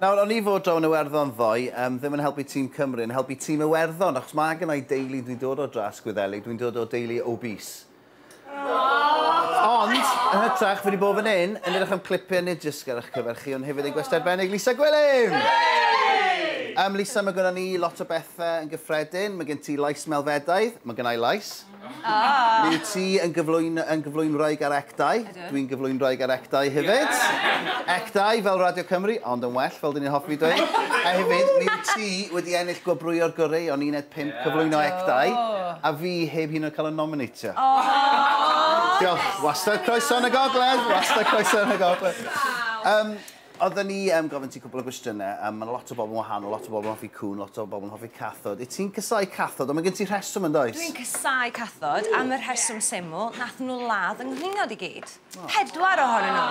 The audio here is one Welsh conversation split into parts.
Nawr, o'n i fod draw yn Iwerddon ddoe, ddim yn helpu tîm Cymru, yn helpu tîm Iwerddon, achos mae gen i deulu, dwi'n dod o dras Gwyddelig, dwi'n dod o deulu obese. Ond, yn hytrach, fi wedi bod fan hyn, yn edrych am clipiau nid jyst ar eich cyfer chi, ond hefyd ein gwestai arbennig, Lisa Gwilym! Lisa, mae gennym ni lot o bethau yn gyffredin. Mae gen ti lais melfedaidd, mae gen i lais. Ah. Mi wyt ti yn gyflwynwraig ar ecdau. Dwi'n gyflwynwraig ar ecdau hefyd. Yeah. Ecdau fel Radio Cymru, ond yn well, fel dyn ni'n hoffi dweud. A hefyd, mi wyt ti wedi ennill gwobrwyo'r gorau o'n 1 5 cyflwyno ecdau, a fi heb hyn oed cael y nominatio. Oh. Diolch. Wastad croeso yn y gogledd. Wastad croeso yn y gogledd. Oedden ni gofyn ti cwpl o gwestiynau, mae lot o bobl yn wahanol, lot o bobl yn hoffi cŵn, lot o bobl yn hoffi cathod. Wyt ti'n casáu cathod, ond mae gen ti rheswm yn does? Dwi'n casáu cathod am y rheswm syml, nath nhw ladd yng nghlingod i gyd. Oh. 4 ohonyn nhw.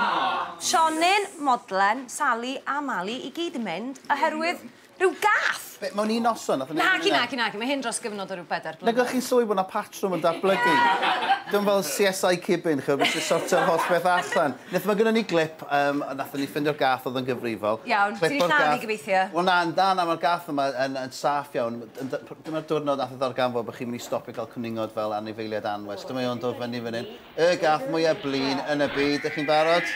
Sionyn, Modlen, Sally a Mali i gyd yn mynd oherwydd rhyw gath. Be, mewn un noson? Naci, naci, naci. Mae hyn dros gyfnod o ryw 4 blynedd. Nag o'ch chi'n sylwi bod 'na patrwm yn datblygu? Dim fel CSI Cibyn, ch'od, beth sy'n sortio'r holl beth allan. Wnaeth mae gynnon ni glip, nathon ni ffindio'r gath oedd yn gyfrifol. Iawn, ti 'di lladd i gobeithio. Wel na, na, na, mae'r gath yma yn saff iawn. Dyma'r diwrnod nath o ddarganfod bod chi'n mynd i stopio cael cwningod fel anifeiliaid anwes. Dyma o'n dod fyny fan hyn. Y gath mwyaf blin yn y byd. Ydych chi'n barod?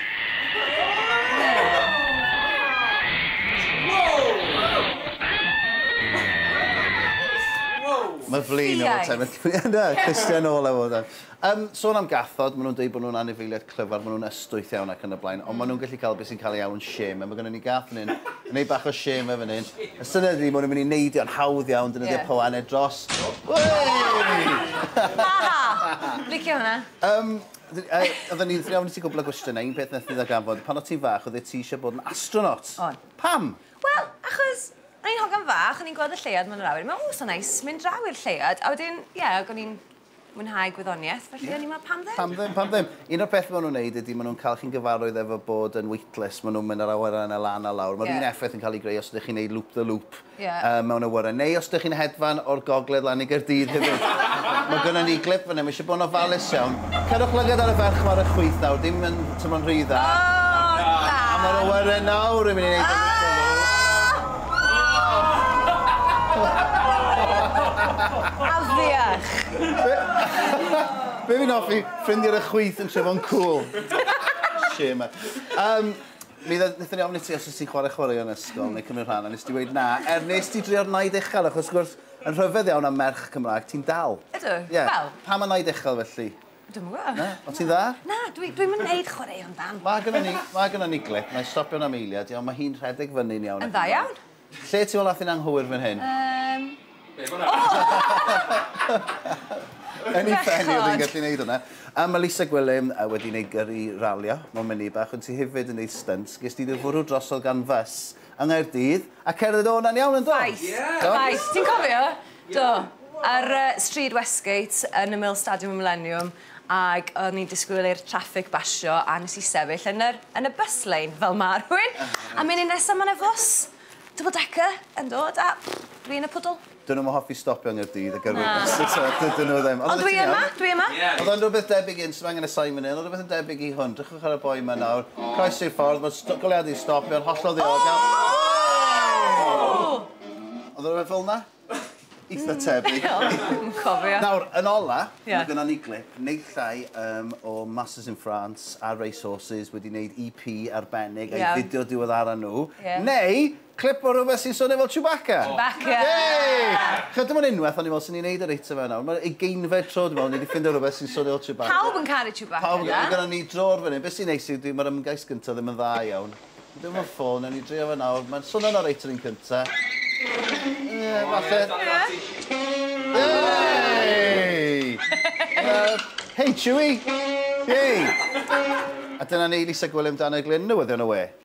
Mae flin o'r time. Na, Christian ôl efo fe. Sôn am gathod, maen nhw'n dweud bod nhw'n anifeiliaid clyfar, maen nhw'n ystwyth iawn ac yn y blaen, ond maen nhw'n gallu cael beth sy'n cael ei alw'n shame. A mae gennym ni gath fan hyn, yn neud bach o shame fan hyn. Y syniad ydi, maen nhw'n mynd i neidio'n hawdd iawn, defnyddio poanau dros. Ha! Licio hwnna. Oedden ni'n ofyn i ti gwbl o gwestiynau, un peth nath ni ddarganfod, pan o ti'n fach, oeddet ti eisiau bod yn astronaut. O'n. Pam? Wel, achos o'n i'n hogan fach, o'n i'n gweld y lleuad mewn yr awyr. Mae'n so nice mynd draw i'r lleuad. A wedyn, ie, o'n i'n mwynhau gwyddoniaeth, felly o'n i'n meddwl, pam ddim? Pam ddim, pam ddim. Un o'r peth maen nhw'n neud ydy, maen nhw'n cael chi'n gyfarwydd efo bod yn weightless, maen nhw'n mynd ar awyren a lan a lawr. Mae'r un effaith yn cael ei greu os ydych chi'n neud loop the loop mewn awyren. Neu os ydych chi'n hedfan o'r gogledd lan i Gaerdydd hefyd. Mae gynnon ni glip fan hyn, mae eisiau bod yn ofalus iawn. Cerwch lygad ar y ferch ma ar y chwith nawr, dim yn teimlo'n rhy dda. A mae'r awyren nawr yn mynd i neud Afiach! Be fi'n hoffi, ffrindiau ar y chwith yn trefo'n cool. Shame. Mi wnaethon ni ofyn i ti os oes ti'n chwarae chwaraeon ysgol neu cymryd rhan, a nes ti weud na, nes ti drio'r naid uchel, achos wrth gwrs, yn rhyfedd iawn am merch Cymraeg, ti'n dal. Ydw, wel. Pam y naid uchel felly? Dwi'm yn gwybod. Na? O ti'n dda? Na, dwi'm yn neud chwaraeon dan. Mae gynnon ni glip, na i stopio am eiliad, iawn, mae hi'n rhedeg fyny'n iawn. Yn dda iawn. Lle ti'n meddwl ath hi'n anghywir fan hyn? Yn ei phen i oedd hi'n gallu neud hwnna. A mae Lisa Gwilym wedi wneud gyrru ralio mewn munud bach, ond ti hefyd yn neud stunts. Ges ti dy fwrw drosodd gan fws yng Nghaerdydd a cerdded o hwnna'n iawn yn do? Ffaith, ffaith. Ti'n cofio? Do. Ar Stryd Westgate yn ymyl Stadiwm y Millennium, ac o'n i'n disgwyl i'r traffic basio a nes i sefyll yn y bus lane fel ma rhywun. A munud nesaf ma' 'na fws double decker yn dod a dwi yn y pwdl. Dyn nhw'n hoffi stopio yng Nghaerdydd a gyrru bus, dyn nhw ddim. Ond dwi yma, dwi yma. Oedd o'n rhywbeth debyg un, sy'n angen y sain fan hyn, oedd rhywbeth yn debyg i hwn. Drychwch ar y boi yma nawr, croesi'r ffordd, mae'r goleuadau'n stopio, yn hollol ddiogel. Oedd o'n rhywbeth fel yna? Eitha tebyg. Yn cofio. Nawr, yn ola, mae gynnon ni glip, naill ai o Masters in France a Racehorses wedi wneud EP arbennig a'i fideo diweddara nhw, neu clip o rhywbeth sy'n swnio fel Chewbacca. Chewbacca! Yay! Chyd, dim ond unwaith, o'n i'n meddwl, sy'n ni'n neud yr eitem yma nawr. Mae'r ugeinfed tro, dwi'n meddwl, ni wedi ffindio rhywbeth sy'n swnio fel Chewbacca. Pawb yn caru Chewbacca, Pawb yn caru. Gynnon ni dro'r fan hyn. Beth sy'n neis yw, mae'r ymgais gyntaf ddim yn dda iawn. Dim ond ffôn, nawn ni drio fe nawr. Mae'n swnio'n oreit yr un cyntaf. Ie, falle. Yay! Hey, Chewie! Yay! A dyna ni, Lisa Gwilym, Dan y Glyn, newyddion y we.